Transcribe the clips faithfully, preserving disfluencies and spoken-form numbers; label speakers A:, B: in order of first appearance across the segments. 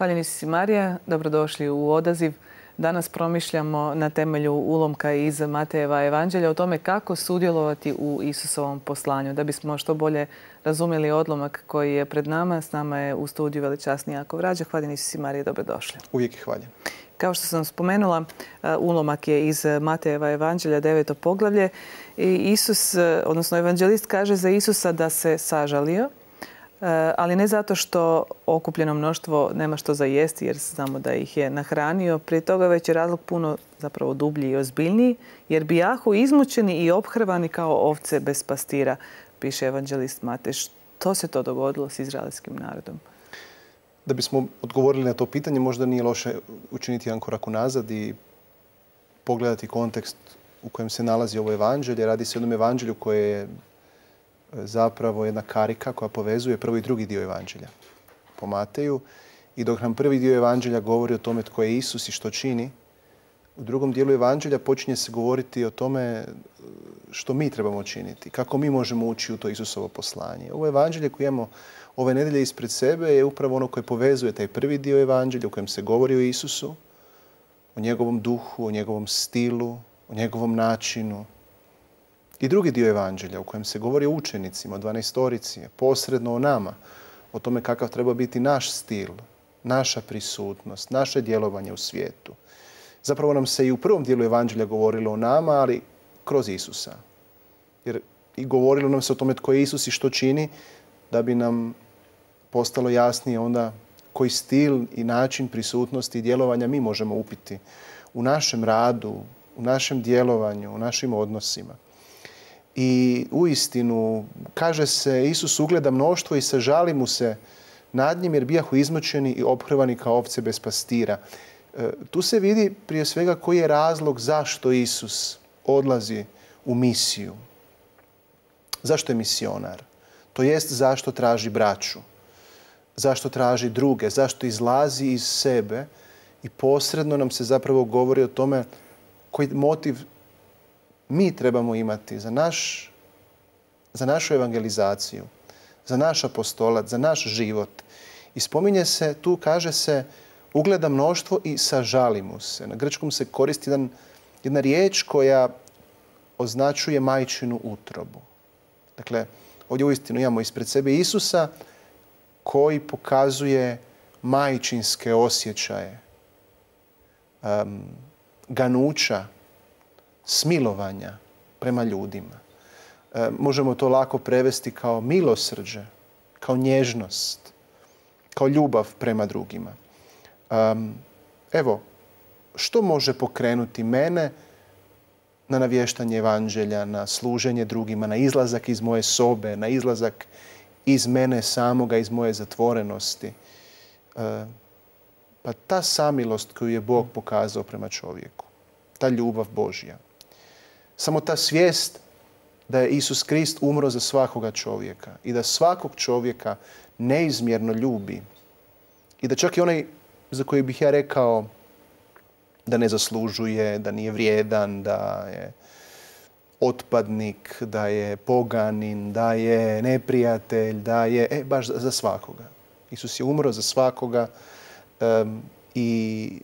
A: Hvaljeni si Marija, dobrodošli u Odaziv. Danas promišljamo na temelju ulomka iz Matejeva evanđelja o tome kako sudjelovati u Isusovom poslanju. Da bismo što bolje razumjeli odlomak koji je pred nama, s nama je u studiju veličasni Jakov Rađa. Hvaljeni si Marija, dobrodošli.
B: Uvijek je hvaljen.
A: Kao što sam spomenula, ulomak je iz Matejeva evanđelja, deveto poglavlje. I Isus, odnosno evanđelist, kaže za Isusa da se sažalio, ali ne zato što okupljeno mnoštvo nema što za jesti, jer znamo da ih je nahranio. Prije toga već je razlog puno zapravo dublji i ozbiljniji, jer bijahu izmučeni i ophrvani kao ovce bez pastira, piše evanđelist Matej. Što se to dogodilo s izraelskim narodom?
B: Da bismo odgovorili na to pitanje, možda nije loše učiniti jedan korak unazad i pogledati kontekst u kojem se nalazi ovo evanđelje. Radi se o jednom evanđelju koje je zapravo jedna karika koja povezuje prvi i drugi dio evanđelja po Mateju. I dok nam prvi dio evanđelja govori o tome tko je Isus i što čini, u drugom dijelu evanđelja počinje se govoriti o tome što mi trebamo činiti, kako mi možemo ući u to Isusovo poslanje. Ovo evanđelje koje imamo ove nedelje ispred sebe je upravo ono koje povezuje taj prvi dio evanđelja u kojem se govori o Isusu, o njegovom duhu, o njegovom stilu, o njegovom načinu. I drugi dio evanđelja u kojem se govori o učenicima, o dvanaestorici, posredno o nama, o tome kakav treba biti naš stil, naša prisutnost, naše djelovanje u svijetu. Zapravo nam se i u prvom dijelu evanđelja govorilo o nama, ali kroz Isusa. Jer i govorilo nam se o tome tko je Isus i što čini, da bi nam postalo jasnije onda koji stil i način prisutnosti i djelovanja mi možemo upiti u našem radu, u našem djelovanju, u našim odnosima. I uistinu, kaže se, Isus ugleda mnoštvo i sažali mu se nad njim jer bijahu izmučeni i ophrvani kao ovce bez pastira. E, tu se vidi prije svega koji je razlog zašto Isus odlazi u misiju. Zašto je misionar? To jest zašto traži braću, zašto traži druge, zašto izlazi iz sebe i posredno nam se zapravo govori o tome koji motiv mi trebamo imati za, naš, za našu evangelizaciju, za naš apostolat, za naš život. I spominje se, tu kaže se, ugleda mnoštvo i sažali mu se. Na grčkom se koristi jedan, jedna riječ koja označuje majčinu utrobu. Dakle, ovdje uistinu imamo ispred sebe Isusa koji pokazuje majčinske osjećaje, um, ganuća, smilovanja prema ljudima. E, možemo to lako prevesti kao milosrđe, kao nježnost, kao ljubav prema drugima. Um, evo, što može pokrenuti mene na navještanje evanđelja, na služenje drugima, na izlazak iz moje sobe, na izlazak iz mene samoga, iz moje zatvorenosti? E, pa ta samilost koju je Bog pokazao prema čovjeku, ta ljubav Božja. Samo ta svijest da je Isus Krist umro za svakoga čovjeka i da svakog čovjeka neizmjerno ljubi i da čak i onaj za koji bih ja rekao da ne zaslužuje, da nije vrijedan, da je otpadnik, da je poganin, da je neprijatelj, da je, e, baš za, za svakoga. Isus je umro za svakoga um, i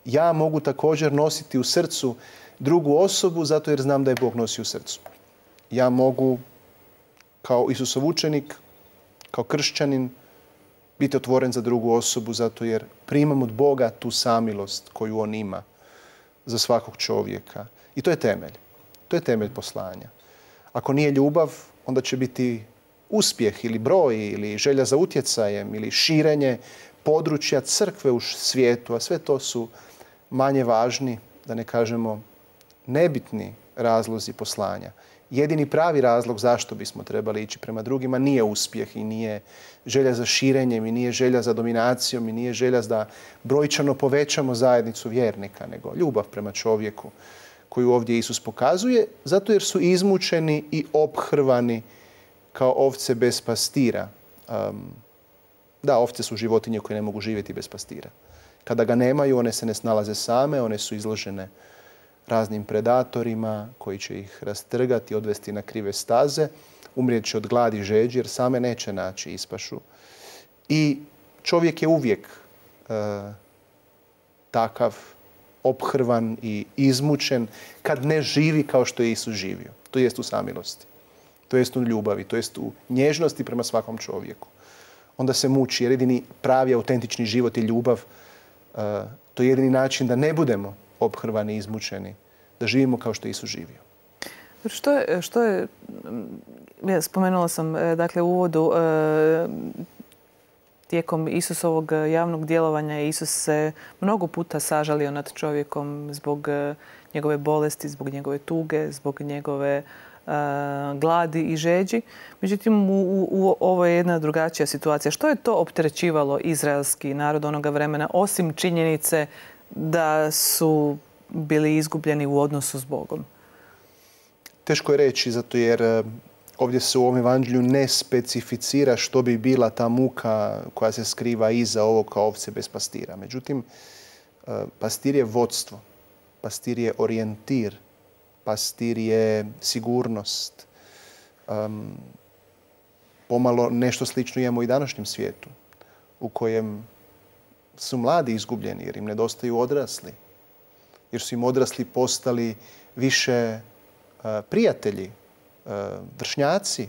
B: ja mogu također nositi u srcu drugu osobu zato jer znam da je Bog nosi u srcu. Ja mogu kao Isusov učenik, kao kršćanin biti otvoren za drugu osobu zato jer primam od Boga tu samilost koju on ima za svakog čovjeka. I to je temelj. To je temelj poslanja. Ako nije ljubav, onda će biti uspjeh ili broj ili želja za utjecajem ili širenje područja crkve u svijetu, a sve to su manje važni, da ne kažemo nebitni razlozi poslanja. Jedini pravi razlog zašto bismo trebali ići prema drugima nije uspjeh i nije želja za širenjem i nije želja za dominacijom i nije želja da brojčano povećamo zajednicu vjernika, nego ljubav prema čovjeku koju ovdje Isus pokazuje, zato jer su izmučeni i ophrvani kao ovce bez pastira. Um, da, ovce su životinje koje ne mogu živjeti bez pastira. Kada ga nemaju, one se ne snalaze same, one su izložene raznim predatorima koji će ih rastrgati, odvesti na krive staze, umrijet će od gladi i žeđi jer same neće naći ispašu. I čovjek je uvijek takav ophrvan i izmučen kad ne živi kao što je Isus živio. To jest u samilosti. To jest u ljubavi. To jest u nježnosti prema svakom čovjeku. Onda se muči jer jedini pravi, autentični život i ljubav. To je jedini način da ne budemo ophrvani i izmučeni. Da živimo kao što je Isus živio.
A: Što je, što je ja spomenula sam dakle u uvodu, tijekom Isusovog javnog djelovanja Isus se mnogo puta sažalio nad čovjekom zbog njegove bolesti, zbog njegove tuge, zbog njegove uh, gladi i žeđi. Međutim, u, u, u, ovo je jedna drugačija situacija. Što je to opterećivalo izraelski narod onoga vremena, osim činjenice da su bili izgubljeni u odnosu s Bogom?
B: Teško je reći, zato jer ovdje se u ovom evanđelju ne specificira što bi bila ta muka koja se skriva iza ovog kao ovce bez pastira. Međutim, pastir je vodstvo, pastir je orijentir, pastir je sigurnost. Um, pomalo nešto slično imamo i današnjem svijetu u kojem su mladi izgubljeni jer im nedostaju odrasli. Jer su im odrasli postali više uh, prijatelji, vršnjaci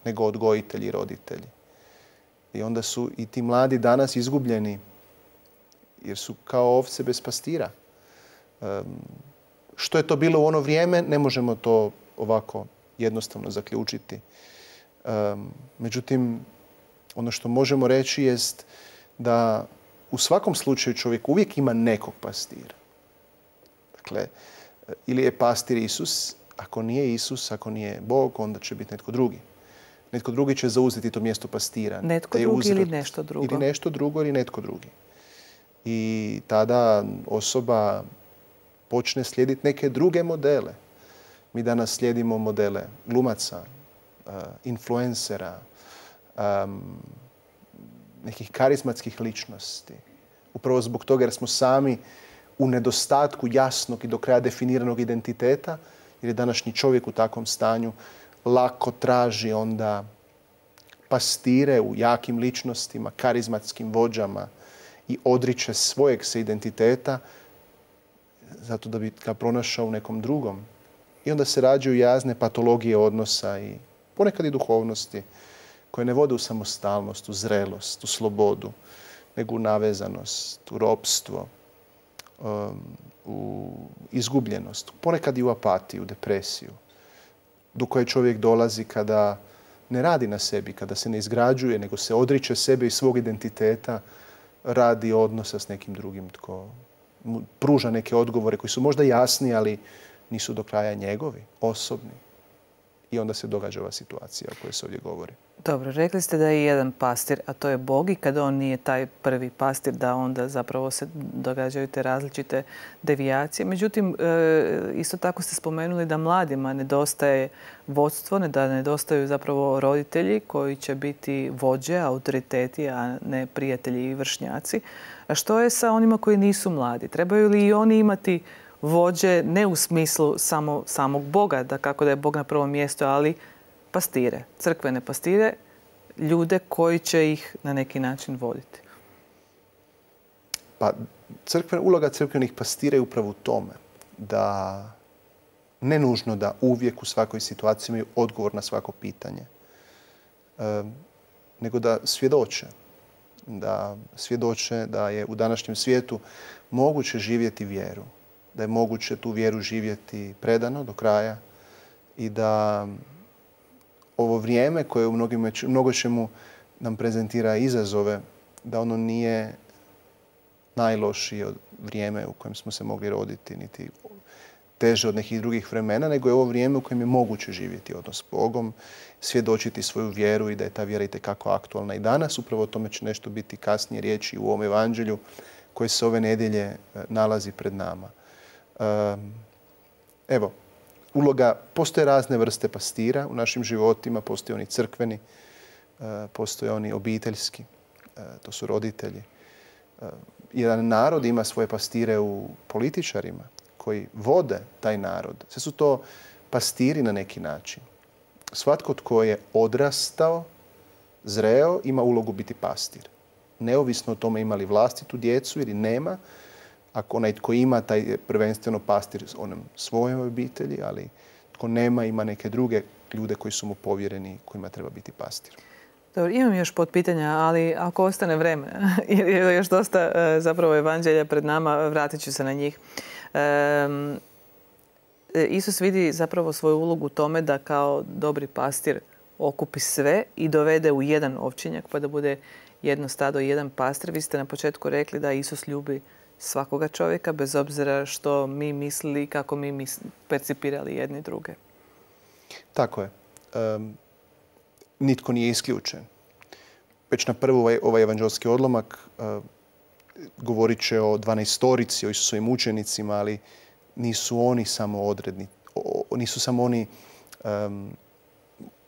B: nego odgojitelji i roditelji. I onda su i ti mladi danas izgubljeni jer su kao ovce bez pastira. Um, što je to bilo u ono vrijeme, ne možemo to ovako jednostavno zaključiti. Um, međutim, ono što možemo reći jest da u svakom slučaju čovjek uvijek ima nekog pastira. Dakle, ili je pastir Isus. Ako nije Isus, ako nije Bog, onda će biti netko drugi. Netko drugi će zauzeti to mjesto pastira.
A: Netko drugi uzrat, ili nešto drugo.
B: Ili nešto drugo ili netko drugi. I tada osoba počne slijediti neke druge modele. Mi danas slijedimo modele glumaca, uh, influencera, um, nekih karizmatskih ličnosti. Upravo zbog toga jer smo sami u nedostatku jasnog i do kraja definiranog identiteta, jer je današnji čovjek u takvom stanju, lako traži onda pastire u jakim ličnostima, karizmatskim vođama i odriče svojeg se identiteta zato da bi ga pronašao u nekom drugom. I onda se rađaju jazne patologije odnosa i ponekad i duhovnosti koje ne vode u samostalnost, u zrelost, u slobodu, nego u navezanost, u ropstvo, um, u izgubljenost, ponekad i u apatiju, depresiju, do koje čovjek dolazi kada ne radi na sebi, kada se ne izgrađuje, nego se odriče sebe i svog identiteta, radi odnosa s nekim drugim tko mu pruža neke odgovore koji su možda jasni, ali nisu do kraja njegovi, osobni. I onda se događa ova situacija o kojoj se ovdje govori.
A: Dobro, rekli ste da je jedan pastir, a to je Bog, i kada on nije taj prvi pastir, da onda zapravo se događaju te različite devijacije. Međutim, isto tako ste spomenuli da mladima nedostaje vodstvo, da nedostaju zapravo roditelji koji će biti vođe, autoriteti, a ne prijatelji i vršnjaci. A što je sa onima koji nisu mladi? Trebaju li i oni imati vođe, ne u smislu samo, samog Boga, da kako da je Bog na prvom mjestu, ali pastire, crkvene pastire, ljude koji će ih na neki način voditi?
B: Pa, crkven, uloga crkvenih pastira je upravo u tome da ne nužno da uvijek u svakoj situaciji imaju odgovor na svako pitanje, e, nego da svjedoče. Da svjedoče da je u današnjem svijetu moguće živjeti vjeru, da je moguće tu vjeru živjeti predano do kraja i da ovo vrijeme koje u mnogo čemu nam prezentira izazove, da ono nije najlošije od vrijeme u kojem smo se mogli roditi, niti teže od nekih drugih vremena, nego je ovo vrijeme u kojem je moguće živjeti odnos s Bogom, svjedočiti svoju vjeru i da je ta vjera itekako aktualna i danas. Upravo o tome će nešto biti kasnije riječi u ovom evanđelju koje se ove nedjelje nalazi pred nama. Evo, uloga, postoje razne vrste pastira u našim životima, postoje oni crkveni, postoje oni obiteljski, to su roditelji. Jedan narod ima svoje pastire u političarima koji vode taj narod. Sve su to pastiri na neki način. Svatko tko je odrastao, zreo, ima ulogu biti pastir. neovisno o tome ima li vlastitu djecu ili nema. Ako onaj tko ima, taj je prvenstveno pastir onom svojoj obitelji, ali tko nema, ima neke druge ljude koji su mu povjereni, kojima treba biti pastir.
A: Dobro, imam još potpitanja, ali ako ostane vreme, jer je još dosta zapravo evanđelja pred nama, vratit ću se na njih. Um, Isus vidi zapravo svoju ulogu u tome da kao dobri pastir okupi sve i dovede u jedan ovčinjak, pa da bude jedno stado i jedan pastir. Vi ste na početku rekli da Isus ljubi svakoga čovjeka, bez obzira što mi mislili, kako mi misli, percipirali jedni druge.
B: Tako je. Um, nitko nije isključen. Već na prvu ovaj, ovaj evanđelski odlomak uh, govorit će o dvanaestorici, o Isusovim učenicima, ali nisu oni samo odredni, o, nisu samo oni um,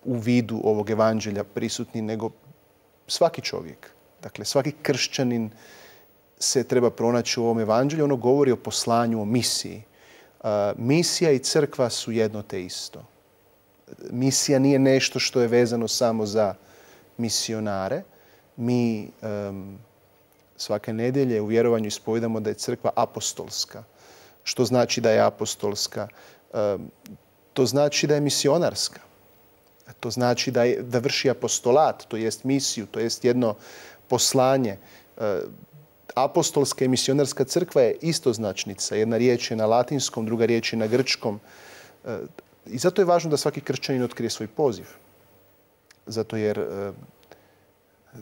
B: u vidu ovog evanđelja prisutni, nego svaki čovjek. Dakle, svaki kršćanin se treba pronaći u ovom evanđelju. Ono govori o poslanju, o misiji. Uh, misija i crkva su jedno te isto. Misija nije nešto što je vezano samo za misionare. Mi um, svake nedjelje u vjerovanju ispovijedamo da je crkva apostolska. Što znači da je apostolska? Um, to znači da je misionarska. To znači da, je, da vrši apostolat, to jest misiju, to jest jedno poslanje. Uh, apostolska i misionarska crkva je istoznačnica. Jedna riječ je na latinskom, druga riječ je na grčkom. Uh, I zato je važno da svaki kršćanin otkrije svoj poziv. Zato jer e,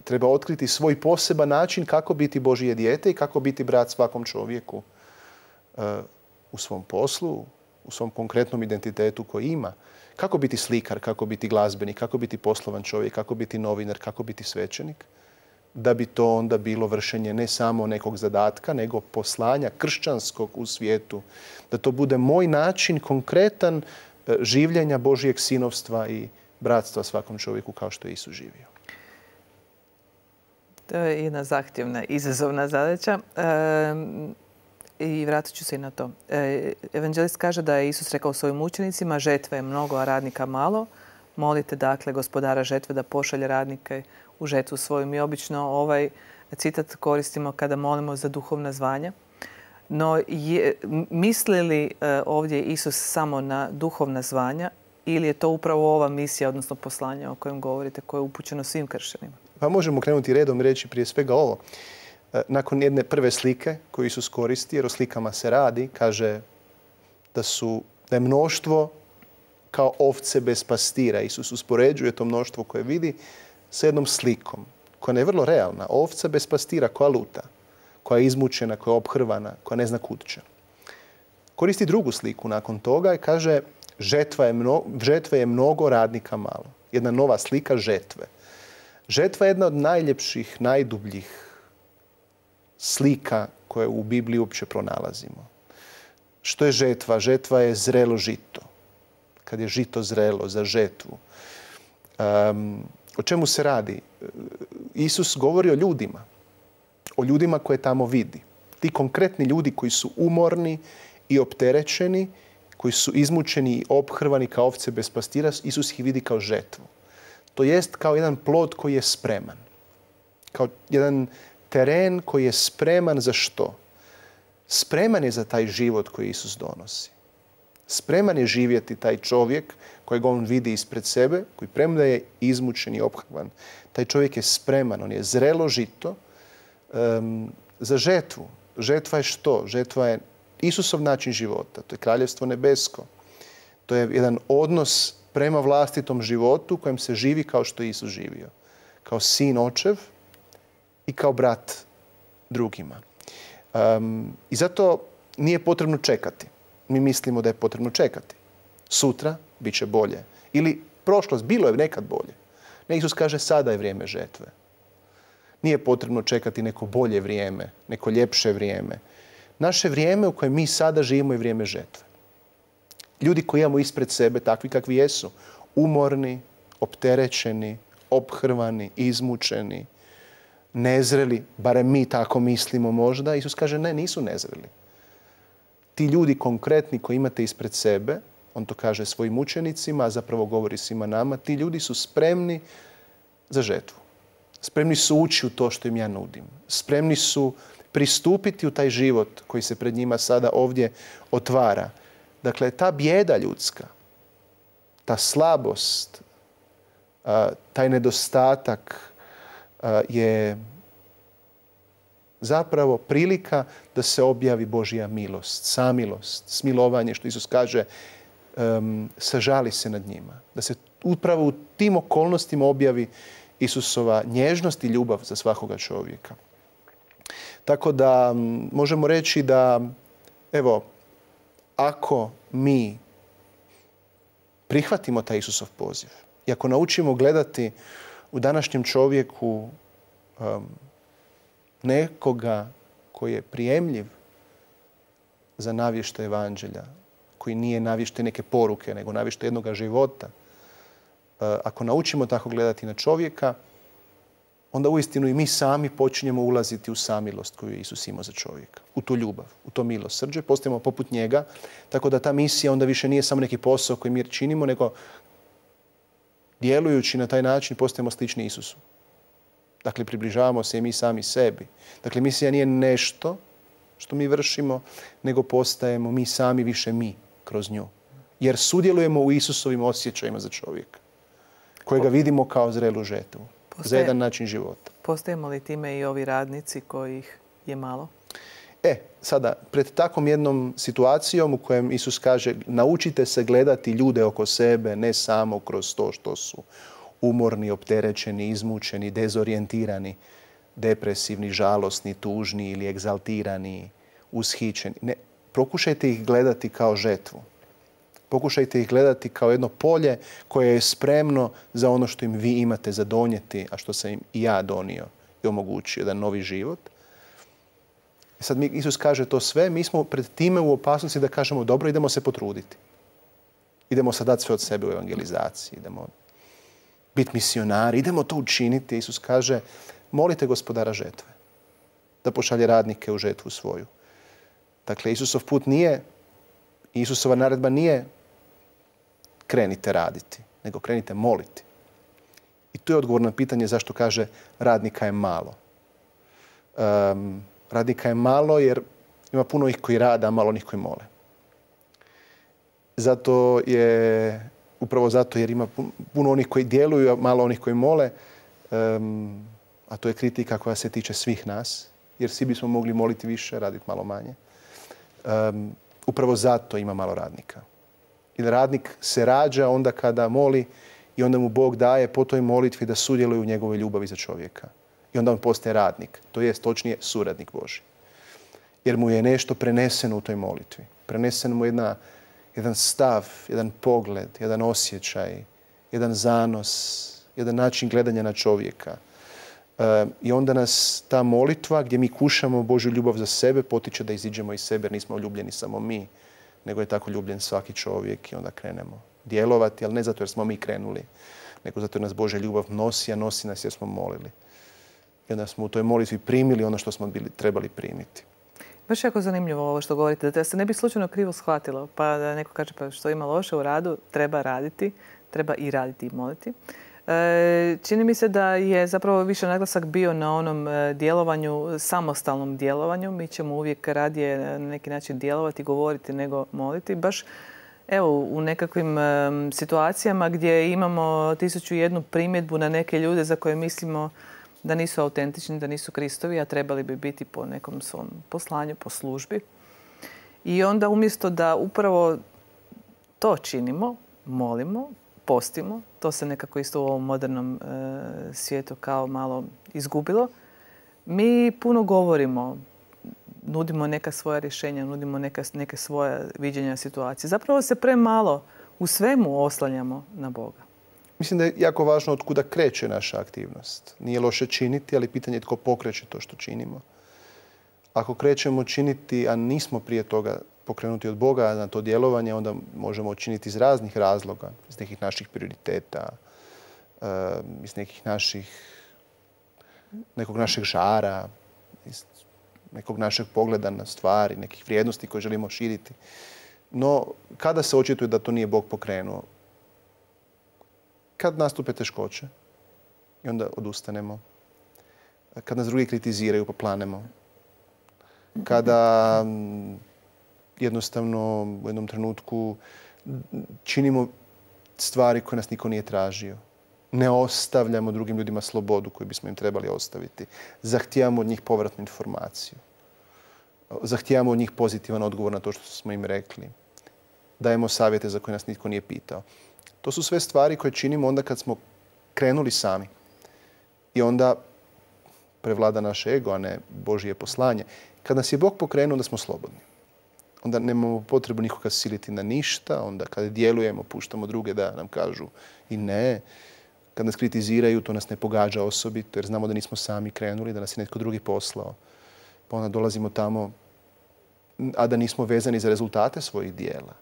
B: treba otkriti svoj poseban način kako biti Božje dijete i kako biti brat svakom čovjeku e, u svom poslu, u svom konkretnom identitetu koji ima. Kako biti slikar, kako biti glazbenik, kako biti poslovan čovjek, kako biti novinar, kako biti svećenik. Da bi to onda bilo vršenje ne samo nekog zadatka, nego poslanja kršćanskog u svijetu. Da to bude moj način konkretan življenja Božijeg sinovstva i bratstva svakom čovjeku kao što je Isus živio.
A: To je jedna zahtjevna, izazovna zadaća. E, I vratit ću se i na to. E, evanđelist kaže da je Isus rekao svojim učenicima: žetve je mnogo, a radnika malo. Molite dakle gospodara žetve da pošalje radnike u žetvu svoju. Mi obično ovaj citat koristimo kada molimo za duhovna zvanja. No, je, misli li ovdje Isus samo na duhovna zvanja ili je to upravo ova misija, odnosno poslanje o kojem govorite, koje je upućeno svim kršćanima?
B: Pa možemo krenuti redom i reći prije svega ovo. Nakon jedne prve slike koju Isus koristi, jer o slikama se radi, kaže da, su, da je mnoštvo kao ovce bez pastira. Isus uspoređuje to mnoštvo koje vidi sa jednom slikom koja je vrlo realna. Ovca bez pastira koja luta, koja je izmučena, koja je ophrvana, koja ne zna kud će. Koristi drugu sliku nakon toga i kaže žetva je, mno, žetve je mnogo, radnika malo. Jedna nova slika žetve. Žetva je jedna od najljepših, najdubljih slika koje u Bibliji uopće pronalazimo. Što je žetva? Žetva je zrelo žito. Kad je žito zrelo za žetvu. Um, o čemu se radi? Isus govori o ljudima. O ljudima koje tamo vidi. Ti konkretni ljudi koji su umorni i opterećeni, koji su izmučeni i ophrvani kao ovce bez pastira, Isus ih vidi kao žetvu. To jest kao jedan plod koji je spreman. Kao jedan teren koji je spreman za što? Spreman je za taj život koji Isus donosi. Spreman je živjeti taj čovjek kojeg on vidi ispred sebe, koji premda je izmučen i ophrvan. Taj čovjek je spreman, on je zrelo žito um, za žetvu. Žetva je što? Žetva je Isusov način života. To je kraljevstvo nebesko. To je jedan odnos prema vlastitom životu kojem se živi kao što je Isus živio. Kao sin očev i kao brat drugima. Um, I zato nije potrebno čekati. Mi mislimo da je potrebno čekati. Sutra bit će bolje. Ili prošlost, bilo je nekad bolje. Ne, Isus kaže sada je vrijeme žetve. Nije potrebno čekati neko bolje vrijeme, neko ljepše vrijeme. Naše vrijeme u kojem mi sada živimo je vrijeme žetve. Ljudi koji imamo ispred sebe, takvi kakvi jesu, umorni, opterećeni, ophrvani, izmučeni, nezreli, barem mi tako mislimo možda. Isus kaže ne, nisu nezreli. Ti ljudi konkretni koji imate ispred sebe, on to kaže svojim učenicima, a zapravo govori svima nama, ti ljudi su spremni za žetvu. Spremni su ući u to što im ja nudim. Spremni su pristupiti u taj život koji se pred njima sada ovdje otvara. Dakle, ta bijeda ljudska, ta slabost, taj nedostatak je zapravo prilika da se objavi Božja milost, samilost, smilovanje, što Isus kaže, um, sažali se nad njima. Da se upravo u tim okolnostima objavi Isusova nježnost i ljubav za svakoga čovjeka. Tako da možemo reći da, evo, ako mi prihvatimo taj Isusov poziv i ako naučimo gledati u današnjem čovjeku um, nekoga koji je prijemljiv za navještaj evanđelja, koji nije navještaj neke poruke, nego navještaj jednoga života. Ako naučimo tako gledati na čovjeka, onda uistinu i mi sami počinjemo ulaziti u samilost koju je Isus imao za čovjeka. U tu ljubav, u to milosrđe. Postajemo poput njega, tako da ta misija onda više nije samo neki posao koji mi činimo, nego djelujući na taj način postajemo slični Isusu. Dakle, približavamo se i mi sami sebi. Dakle, misija nije nešto što mi vršimo, nego postajemo mi sami više mi kroz nju. Jer sudjelujemo u Isusovim osjećajima za čovjeka, kojega vidimo kao zrelu žetvu, Postaje, za jedan način života.
A: Postajemo li time i ovi radnici kojih je malo?
B: E, sada, pred takvom jednom situacijom u kojem Isus kaže naučite se gledati ljude oko sebe, ne samo kroz to što su umorni, opterećeni, izmučeni, dezorijentirani, depresivni, žalosni, tužni ili egzaltirani, ushićeni. Ne, pokušajte ih gledati kao žetvu. Pokušajte ih gledati kao jedno polje koje je spremno za ono što im vi imate za donijeti, a što sam im i ja donio i omogućio, jedan novi život. I sad mi, Isus kaže to sve, mi smo pred time u opasnosti da kažemo dobro, idemo se potruditi. Idemo sad dati sve od sebe u evangelizaciji, idemo biti misionari, idemo to učiniti. Isus kaže, molite Gospodara žetve da pošalje radnike u žetvu svoju. Dakle, Isusov put nije, Isusova naredba nije krenite raditi, nego krenite moliti. I tu je odgovor na pitanje zašto kaže radnika je malo. Um, radnika je malo jer ima puno ih koji rade, a malo onih koji mole. Zato je, upravo zato jer ima puno onih koji djeluju, a malo onih koji mole, um, a to je kritika koja se tiče svih nas, jer svi bismo mogli moliti više, raditi malo manje. Um, upravo zato ima malo radnika. Jer radnik se rađa onda kada moli i onda mu Bog daje po toj molitvi da sudjeluje u njegovoj ljubavi za čovjeka. I onda on postaje radnik, to jest točnije suradnik Božji. Jer mu je nešto preneseno u toj molitvi. Preneseno mu jedna, jedan stav, jedan pogled, jedan osjećaj, jedan zanos, jedan način gledanja na čovjeka. E, I onda nas ta molitva gdje mi kušamo Božju ljubav za sebe potiče da iziđemo iz sebe jer nismo ljubljeni samo mi, nego je tako ljubljen svaki čovjek i onda krenemo djelovati, ali ne zato jer smo mi krenuli, nego zato jer nas Božja ljubav nosi, a nosi nas jer smo molili. I onda smo u toj molitvi primili ono što smo bili, trebali primiti.
A: Baš jako zanimljivo ovo što govorite, da se ne bi slučajno krivo shvatilo, pa da neko kaže pa što ima loše u radu, treba raditi, treba i raditi i moliti. E, čini mi se da je zapravo više naglasak bio na onom djelovanju, samostalnom djelovanju. Mi ćemo uvijek radije na neki način djelovati, govoriti nego moliti. Baš evo u nekakvim um, situacijama gdje imamo tisuću jednu primjedbu na neke ljude za koje mislimo da nisu autentični, da nisu Kristovi, a trebali bi biti po nekom svom poslanju, po službi. I onda umjesto da upravo to činimo, molimo, postimo, to se nekako isto u ovom modernom e, svijetu kao malo izgubilo. Mi puno govorimo, nudimo neka svoja rješenja, nudimo neka, neke svoje viđenja situacije. Zapravo se premalo u svemu oslanjamo na Boga.
B: Mislim da je jako važno od kuda kreće naša aktivnost. Nije loše činiti, ali pitanje je tko pokreće to što činimo. Ako krećemo činiti, a nismo prije toga pokrenuti od Boga na to djelovanje, onda možemo činiti iz raznih razloga, iz nekih naših prioriteta, iz nekih naših, nekog našeg žara, iz nekog našeg pogleda na stvari, nekih vrijednosti koje želimo širiti. No, kada se očituje da to nije Bog pokrenuo? Kad nastupe teškoće i onda odustanemo. kad nas drugi kritiziraju pa planemo, kada jednostavno u jednom trenutku činimo stvari koje nas niko nije tražio. Ne ostavljamo drugim ljudima slobodu koju bismo im trebali ostaviti. Zahtijevamo od njih povratnu informaciju. Zahtijevamo od njih pozitivan odgovor na to što smo im rekli. Dajemo savjete za koje nas nitko nije pitao. To su sve stvari koje činimo onda kad smo krenuli sami. I onda prevlada naš ego, a ne Božje poslanje. Kad nas je Bog pokrenuo, onda smo slobodni. Onda nemamo potrebu nikoga siliti na ništa. Onda kada djelujemo, puštamo druge da nam kažu i ne. Kad nas kritiziraju, to nas ne pogađa osobito, jer znamo da nismo sami krenuli, da nas je netko drugi poslao. Pa onda dolazimo tamo, a da nismo vezani za rezultate svojih dijela.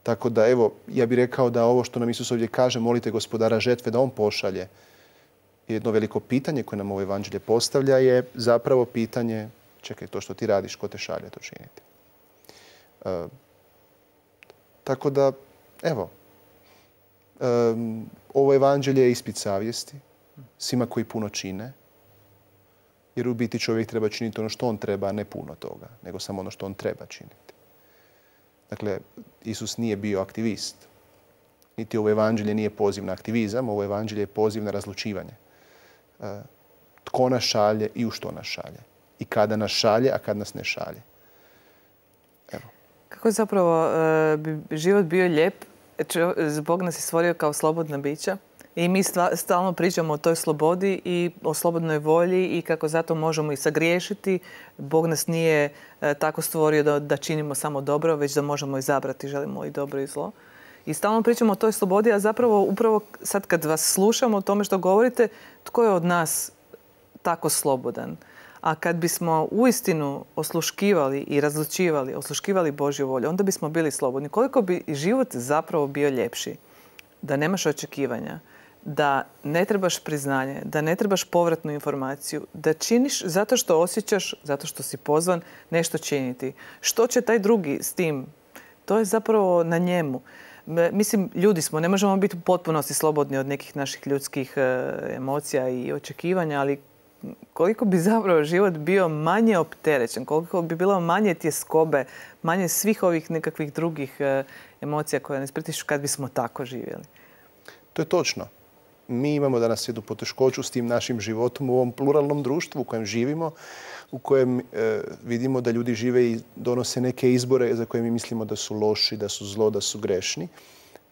B: Tako da, evo, ja bih rekao da ovo što nam Isus ovdje kaže, molite Gospodara žetve da on pošalje. Jedno veliko pitanje koje nam ovo evanđelje postavlja je zapravo pitanje, čekaj, to što ti radiš, ko te šalje to činiti. Uh, tako da, evo, um, ovo evanđelje je ispit savjesti svima koji puno čine. Jer u biti čovjek treba činiti ono što on treba, a ne puno toga, nego samo ono što on treba činiti. Dakle, Isus nije bio aktivist. Niti ovo evanđelje nije poziv na aktivizam, ovo evanđelje je poziv na razlučivanje. Uh, tko nas šalje i u što nas šalje. I kada nas šalje, a kad nas ne šalje. Evo.
A: Kako je zapravo uh, bi život bio lijep? Bog nas je stvorio kao slobodna bića i mi stalno pričamo o toj slobodi i o slobodnoj volji i kako zato možemo i sagriješiti. Bog nas nije uh, tako stvorio da, da činimo samo dobro, već da možemo izabrati, želimo i dobro i zlo. I stalno pričamo o toj slobodi, a zapravo upravo sad kad vas slušamo o tome što govorite, tko je od nas tako slobodan? A kad bismo uistinu osluškivali i razlučivali, osluškivali Božju volju, onda bismo bili slobodni. Koliko bi život zapravo bio ljepši? Da nemaš očekivanja, da ne trebaš priznanje, da ne trebaš povratnu informaciju, da činiš zato što osjećaš, zato što si pozvan nešto činiti. Što će taj drugi s tim? To je zapravo na njemu. Mislim, ljudi smo, ne možemo biti u potpunosti slobodni od nekih naših ljudskih emocija i očekivanja, ali koliko bi zapravo život bio manje opterećen, koliko bi bilo manje tjeskobe, manje svih ovih nekakvih drugih emocija koje nas pritišću kad bismo tako živjeli.
B: To je točno. Mi imamo danas jednu poteškoću s tim našim životom u ovom pluralnom društvu u kojem živimo, u kojem e, vidimo da ljudi žive i donose neke izbore za koje mi mislimo da su loši, da su zlo, da su grešni.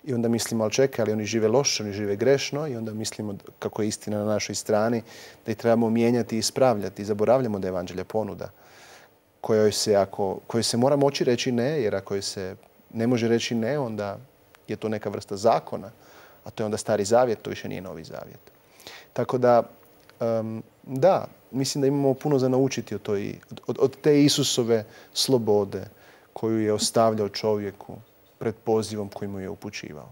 B: I onda mislimo, ali čekaj, ali oni žive loše, oni žive grešno i onda mislimo kako je istina na našoj strani, da ih trebamo mijenjati i ispravljati. Zaboravljamo da je evanđelje ponuda kojoj se, ako, kojoj se mora moći reći ne, jer ako se ne može reći ne, onda je to neka vrsta zakona, a to je onda stari zavjet, to više nije novi zavjet. Tako da, um, da, mislim da imamo puno za naučiti od, toj, od, od te Isusove slobode koju je ostavljao čovjeku pred pozivom koji mu je upućivao.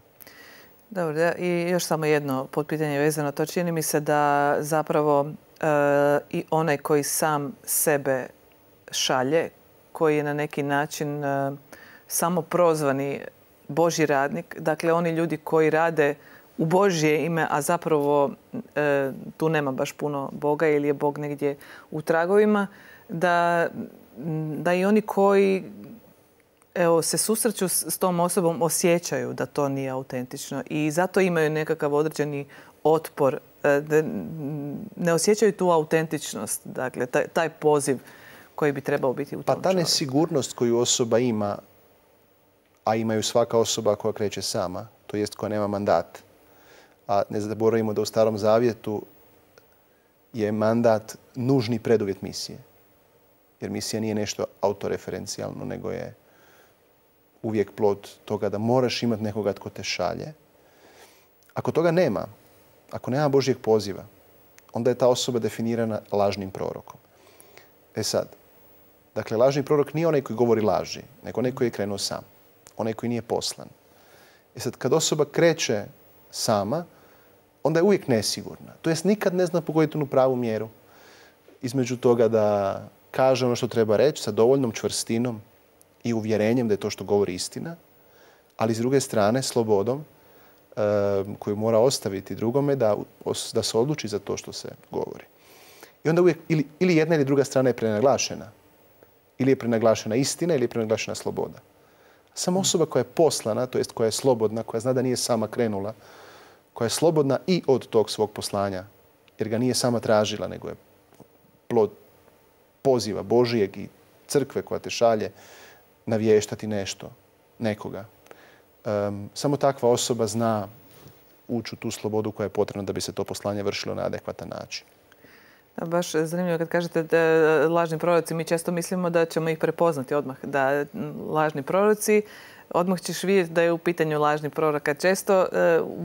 A: Dobro, da, i još samo jedno potpitanje vezano. To čini mi se da zapravo e, i onaj koji sam sebe šalje, koji je na neki način e, samo prozvani Božji radnik, dakle oni ljudi koji rade u Božje ime, a zapravo e, tu nema baš puno Boga ili je Bog negdje u tragovima, da, da i oni koji evo, se susreću s tom osobom osjećaju da to nije autentično i zato imaju nekakav određeni otpor, da ne osjećaju tu autentičnost, dakle taj, taj poziv koji bi trebao biti u tom
B: Pa ta nesigurnost koju osoba ima, a imaju svaka osoba koja kreće sama, to jest koja nema mandat. A ne zaboravimo da u Starom Zavjetu je mandat nužni preduvjet misije. Jer misija nije nešto autoreferencijalno, nego je uvijek plod toga da moraš imati nekoga tko te šalje. Ako toga nema, ako nema Božjeg poziva, onda je ta osoba definirana lažnim prorokom. E sad, dakle, lažni prorok nije onaj koji govori laži, nego onaj koji je krenuo sam. Onaj koji nije poslan. E sad, kad osoba kreće sama, onda je uvijek nesigurna. To jest nikad ne zna pogoditi onu pravu mjeru između toga da kaže ono što treba reći sa dovoljnom čvrstinom i uvjerenjem da je to što govori istina, ali s druge strane slobodom e, koju mora ostaviti drugome da, da se odluči za to što se govori. I onda uvijek ili, ili jedna ili druga strana je prenaglašena. Ili je prenaglašena istina ili je prenaglašena sloboda. Samo osoba koja je poslana, to jest koja je slobodna, koja zna da nije sama krenula, koja je slobodna i od tog svog poslanja, jer ga nije sama tražila, nego je plod poziva Božijeg i crkve koja te šalje navještati nešto, nekoga. Um, samo takva osoba zna ući u tu slobodu koja je potrebna da bi se to poslanje vršilo na adekvatan način.
A: Da, baš zanimljivo kad kažete da lažni proroci, mi često mislimo da ćemo ih prepoznati odmah. Da lažni proroci, odmah ćeš vidjeti da je u pitanju lažni prorok. Često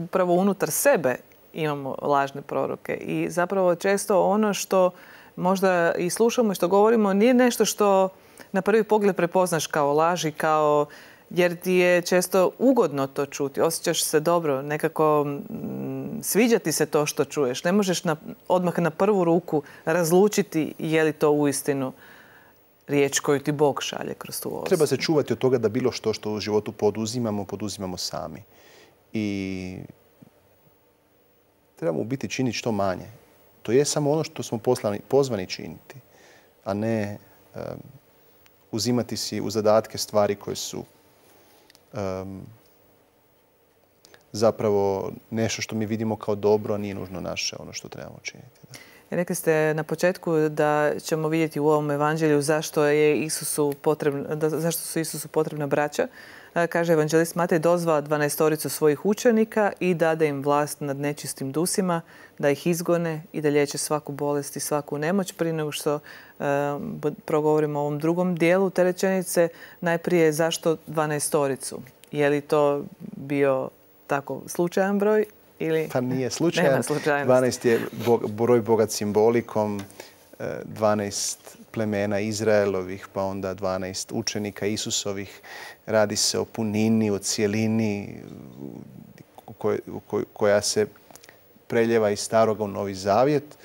A: upravo unutar sebe imamo lažne proroke. I zapravo često ono što možda i slušamo i što govorimo nije nešto što na prvi pogled prepoznaš kao laži, kao jer ti je često ugodno to čuti. Osjećaš se dobro, nekako m, sviđa ti se to što čuješ. Ne možeš na, odmah na prvu ruku razlučiti je li to uistinu riječ koju ti Bog šalje kroz tu osobu.
B: Treba se čuvati od toga da bilo što što u životu poduzimamo, poduzimamo sami. I trebamo u biti činiti što manje. To je samo ono što smo poslani, pozvani činiti, a ne um, uzimati si u zadatke stvari koje su Um, zapravo nešto što mi vidimo kao dobro, a nije nužno naše ono što trebamo činiti. Da.
A: Rekli ste na početku da ćemo vidjeti u ovom evanđelju zašto je Isusu potrebna, da, zašto su Isusu potrebna braća. Kaže evanđelist Matej, dozva dvanaestoricu svojih učenika i dade im vlast nad nečistim dusima, da ih izgone i da liječe svaku bolest i svaku nemoć. Prije nego što uh, progovorimo o ovom drugom dijelu te rečenice, najprije zašto dvanaestoricu? Je li to bio tako slučajan broj? Ili...
B: Pa nije slučajan. dvanaest je broj bogat simbolikom, dvanaest plemena Izraelovih, pa onda dvanaest učenika Isusovih. Radi se o punini, o cijelini koj, koj, koja se preljeva iz staroga u Novi Zavjet,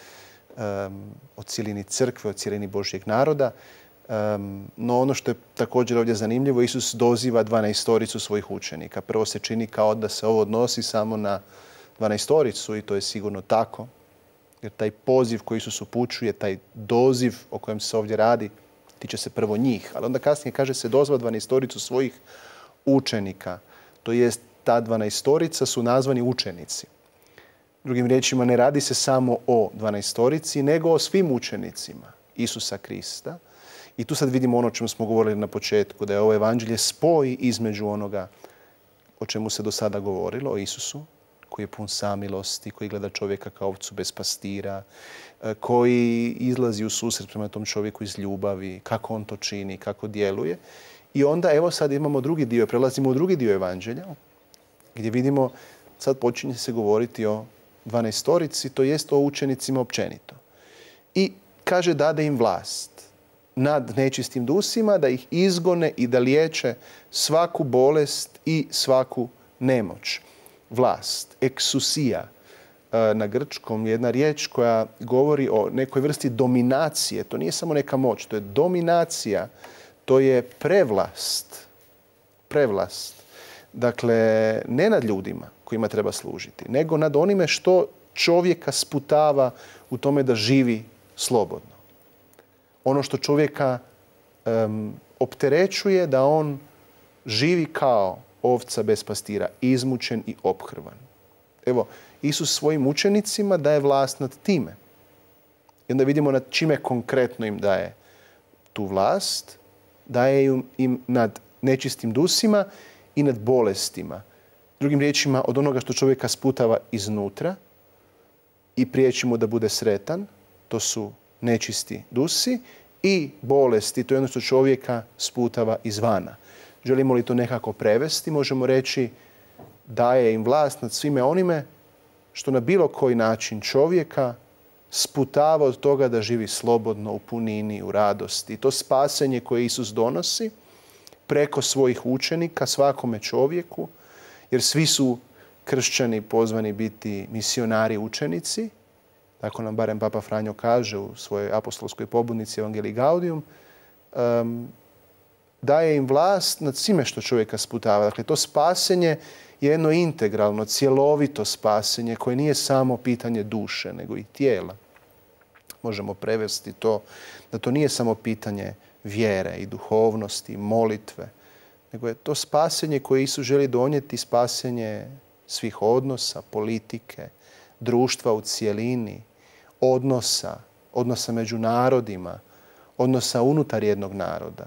B: um, o cijelini crkve, o cijelini Božjeg naroda. Um, no ono što je također ovdje zanimljivo, Isus doziva dvanaestoricu svojih učenika. Prvo se čini kao da se ovo odnosi samo na dvanaestoricu i to je sigurno tako. Jer taj poziv koji Isus upućuje, taj doziv o kojem se ovdje radi, tiče se prvo njih. Ali onda kasnije kaže se dozva dvanaestoricu svojih učenika. To jest ta dvanaestorica su nazvani učenici. Drugim riječima, ne radi se samo o dvanaestorici, nego o svim učenicima Isusa Krista. I tu sad vidimo ono o čemu smo govorili na početku, da je ovo evanđelje spoj između onoga o čemu se do sada govorilo, o Isusu, koji je pun samilosti, koji gleda čovjeka kao ovcu bez pastira, koji izlazi u susret prema tom čovjeku iz ljubavi, kako on to čini, kako djeluje. I onda evo sad imamo drugi dio, prelazimo u drugi dio evanđelja, gdje vidimo, sad počinje se govoriti o dvanaestorici, to jest o učenicima općenito. I kaže dade im vlast nad nečistim dusima, da ih izgone i da liječe svaku bolest i svaku nemoć. Vlast, eksusija, na grčkom jedna riječ koja govori o nekoj vrsti dominacije. To nije samo neka moć, to je dominacija, to je prevlast. Prevlast. Dakle, ne nad ljudima kojima treba služiti, nego nad onime što čovjeka sputava u tome da živi slobodno. Ono što čovjeka um, opterećuje da on živi kao ovca bez pastira, izmučen i ophrvan. Evo, Isus svojim učenicima daje vlast nad time. I onda vidimo nad čime konkretno im daje tu vlast. Daje im nad nečistim dusima i nad bolestima. Drugim riječima, od onoga što čovjeka sputava iznutra i priječi mu da bude sretan, to su nečisti dusi, i bolesti, to je ono što čovjeka sputava izvana. Želimo li to nekako prevesti, možemo reći daje im vlast nad svime onime što na bilo koji način čovjeka sputava od toga da živi slobodno, u punini, u radosti. To spasenje koje Isus donosi preko svojih učenika svakome čovjeku, jer svi su kršćani pozvani biti misionari učenici, tako nam barem Papa Franjo kaže u svojoj apostolskoj pobudnici Evangelii Gaudium, um, daje im vlast nad svime što čovjeka sputava. Dakle, to spasenje je jedno integralno, cjelovito spasenje koje nije samo pitanje duše, nego i tijela. možemo prevesti to, da to nije samo pitanje vjere i duhovnosti, i molitve, nego je to spasenje koje Isus želi donijeti, spasenje svih odnosa, politike, društva u cijelini, odnosa, odnosa među narodima, odnosa unutar jednog naroda.